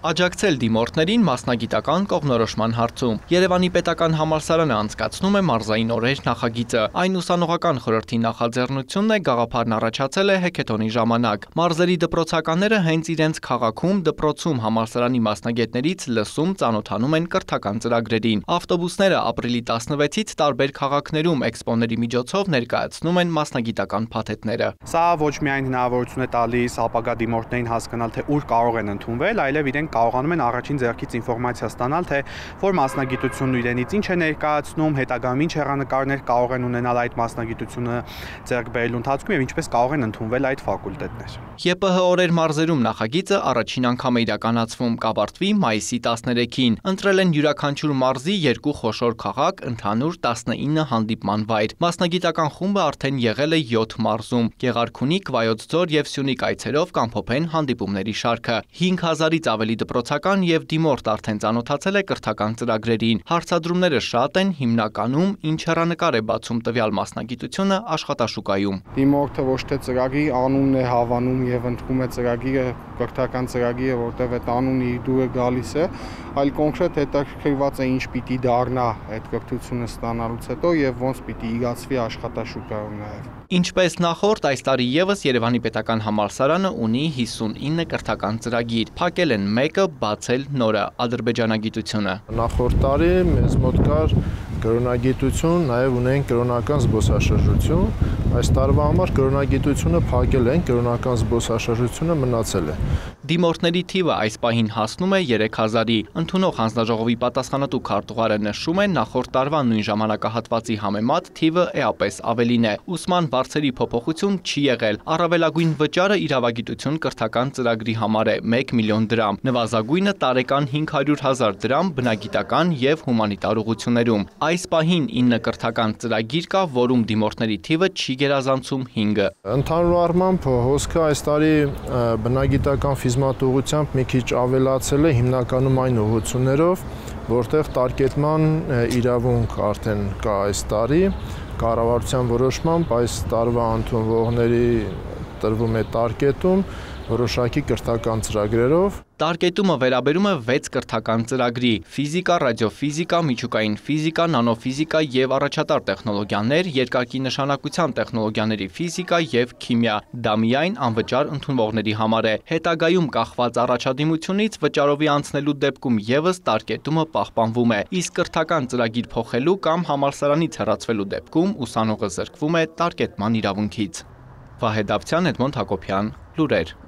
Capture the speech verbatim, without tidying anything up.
Աջակցել դիմորդներին մասնագիտական կողմնորոշման հարցում։ Երևանի պետական համալսարանը անցկացնում է մարզային օրեր նախագիծը։ Այն ուսանողական խորհրդի նախաձեռնությունն է, գաղափարն առաջացել է հեքեթոնի ժամանակ։ Մարզերի դպրոցականները հենց իրենց քաղաքում, դպրոցում համալսարանի մասնագետներից լսում, ծանոթանում են կրթական ծրագրերին։ Ավտոբուսները ապրիլի տասնվեցից տարբեր քաղաքներում էքսպոների միջոցով ներկայացնում են մասնագիտական փաթեթները։ Սա ոչ միայն հնարավորություն է տալիս ապագա դիմորդներին հասկանալ, թե ուր կարող են ընդունվել, այլև իրենք կարողանում են առաջին ձեռքից ինֆորմացիա ստանալ, թե որ մասնագիտությունն իրենից ինչ է ներկայացնում, հետագայում ինչ հեռանկարներ կարող են ունենալ այդ մասնագիտությունը ձեռք բերելու ընթացքում եւ ինչպես կարող են ընդունվել այդ ֆակուլտետներ։ ԵՊՀ օրեր մարզերում նախագիծը առաջին անգամ է իրականացվում, կավարտվի մայիսի տասներեքին։ Ընտրել են յուրաքանչյուր մարզի երկու խոշոր քաղաք, ընդհանուր տասնինը հանդիպման վայր։ Մասնագիտական խումբը արդեն եղել է յոթ մարզում։ Գեղարքունիք, Վայոց ձոր եւ Սյունիք այցերով կամփոփեն հանդիպումների շարքը։ հինգ հազարից ավելի դպրոցական եւ դիմորդ արդեն ծանոթացել է կրթական ծրագրերին։ Հարցադրումները շատ են, հիմնականում ինչ հեռանկար է բացում տվյալ մասնագիտությունը աշխատաշուկայում։ Դիմորդը ոչ թե ծրագրի անունն է հավանում եւ ընդունում է ծրագիրը, կրթական ծրագիրը, որտեղ այդ անունը իր դուրը գալիս է, այլ կոնկրետ հետաքրքրված է ինչ պիտի դառնա այդ կրթությունը ստանալուց հետո եւ ոնց պիտի իրացվի աշխատաշուկայում նաեւ։ Ինչպես նախորդ, այս տարի եւս Երևանի պետական համալսարանը ունի հիսունինը կրթական ծրագիր։ Փակել են մեկը, բացել նորը՝ ադրբեջանագիտությունը։ Նախորդ տարի մեզ մոտ կար կրոնագիտություն, նաև ունենք կրոնական զբոսաշրջություն։ Այս տարվա համար կրոնագիտությունը փակել են, կրոնական զբոսաշրջությունը մնացել է։ Դիմորդների թիվը այս պահին հասնում է երեք հազարի։ Ընդունող հանձնաժողովի պատասխանատու քարտուղարը նշում է, նախորդ տարվա նույն ժամանակահատվածի համեմատ թիվը էապես ավելին է։ Ուսման բարձերի փոփոխություն չի եղել։ Առավելագույն վճարը իրավագիտություն կրթական ծրագրի համար է մեկ միլիոն դրամ, նվազագույնը տարեկան հինգ հարյուր հազար դրամ բնագիտական եւ հումանիտար ուղղություններում։ Այս պահին ինը կրթական ծրագիր կա, որում դիմորդների թիվը չի գերազանցում հինգը։ Ընդհանուր առմամբ հոսքը այս տարի բնագիտական ֆիզմատուղությամբ մի քիչ ավելացել է, հիմնականում այն ուղղություններով, որտեղ տարկետման իրավունք արդեն կա այս տարի, կառավարության որոշմամբ այս տարվա ընդունվողների տրվում է տարկետում որոշակի կրթական ծրագրերով։ Տարկետումը վերաբերում է վեց կրթական ծրագրի՝ ֆիզիկա, ռադիոֆիզիկա, միջուկային ֆիզիկա, նանոֆիզիկա եւ առաջատար տեխնոլոգիաներ, երկակի նշանակության տեխնոլոգիաների ֆիզիկա եւ քիմիա։ Դա միայն անվճար ընդունվողների համար է։ Հետագայում կախված առաջադիմությունից վճարովի անցնելու դեպքում եւս տարկետումը պահպանվում է։ Իսկ կրթական ծրագիր փոխելու կամ համալսարանից հեռացվելու դեպքում ուսանողը զրկվում է տարկետման իրավունքից։ Վահե Դավթյան, Էդմոնդ Հակոբյան, լուրեր։